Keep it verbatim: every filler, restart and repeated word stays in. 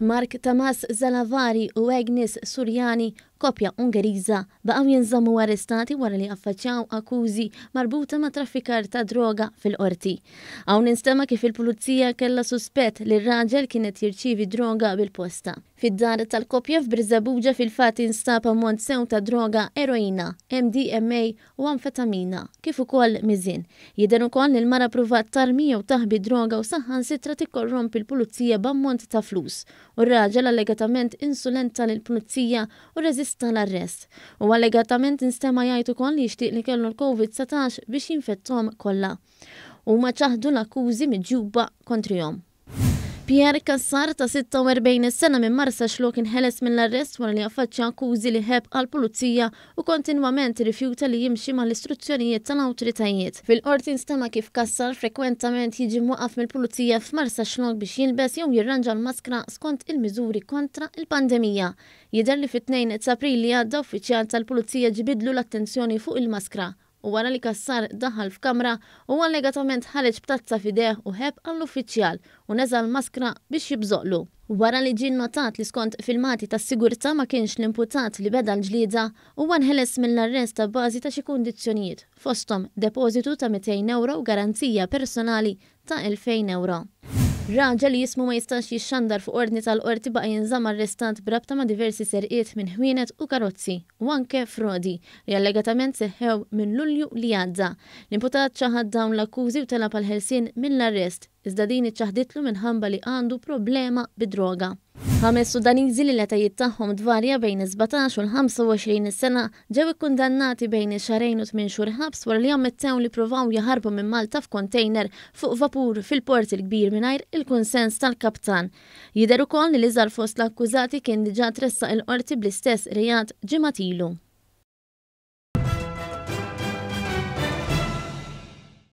Mark Tamas Zalavari u Agnes Surjani, koppja Ungeriża, baqgħu jinżammu arrestati wara li affaċċjaw akkużi marbuta ma' traffikar ta' droga fil-qorti. Hawn instema' kif il-pulizija kellha suspett li r-raġel kienet jirċievi droga bil-posta. Fid-dar tal-koppja f'Birżebbuġa fil-fatt instab ammont sew ta' droga eroina, M D M A u amfetamina, kif ukoll miżien. Jidher ukoll li l-mara pruvat tarmi jew taħbi droga u saħansitra tikkorrompi l-pulizija b'ammont ta' flus. U r-raġel allegatament insulenta lill-pulizija u rreżista l-arrest. U allegatament instema' jgħid ukoll li jixtieq li kellu l-Covid dsatax biex jinfettom kollha. Huma ċaħdu l-akkużi miġjuba kontrihom. Pierre Kassar ta' sitta u erbgħin sena minn Marsaxlokk inħeles mill-arrest wara li affaċċja akkużi li ħeb għall-pulizija u kontinwament rifjuta li jimxi mal-istruzzjonijiet tal-awtoritajiet. Fil-qorti nstema' kif Kassar frekwentament jiġi mwaqaf mill-pulizija f'Marsaxlokk biex jilbes jew jirranġa l-maskra skont il-miżuri kontra il-pandemija. Jidher li fit-tnejn ta' April li għadda, uffiċjal tal-pulizija ġibidlu l-attenzjoni fuq il-maskra u wara li Kassar daħal f'kamra u allegatament ħareġ b'tazza f'idejh u ħeb għall-uffiċjal u neża l-maskra biex jibżoqlu. Wara li ġie notat li skont filmati ta' sigurtà ma kienx l-imputat li beda l-ġlieda, huwa nħeles mill-arrest ta' bażi ta' xi kundizzjonijiet, fosthom depożitu ta' mitejn euro u garanzija personali ta' elfejn euro. Raġel li jismu ma jistax jixxandar fuq ordni tal-qorti baqa' jinżamm arrestat b'rabta ma' diversi serqiet minn ħwienet u karozzi u anke frodi li allegatament seħħew minn Lulju li għadda. L-imputat ċaħad dawn l-akkużi u talab għall-ħelsien mill-arrest, iżda din iċċaħditlu minħabba li għandu problema bid-droga. Ħames Sudaniżi li l-etajiet tagħhom tvarja bejn is-sbatax u l-ħamsa u għoxrin sena ġew ikkundannati bejn xahrejn u tmien xhur ħabs wara li ammettew li provaw jaħarbu minn Malta f'kontejner fuq vapur fil-Port il-Kbir mingħajr il-kunsens tal-kaptan. Jidher ukoll li l-iżgħar fost l-akkużati kien diġà tressaq il-qorti bl-istess reat ġimgħat ilu.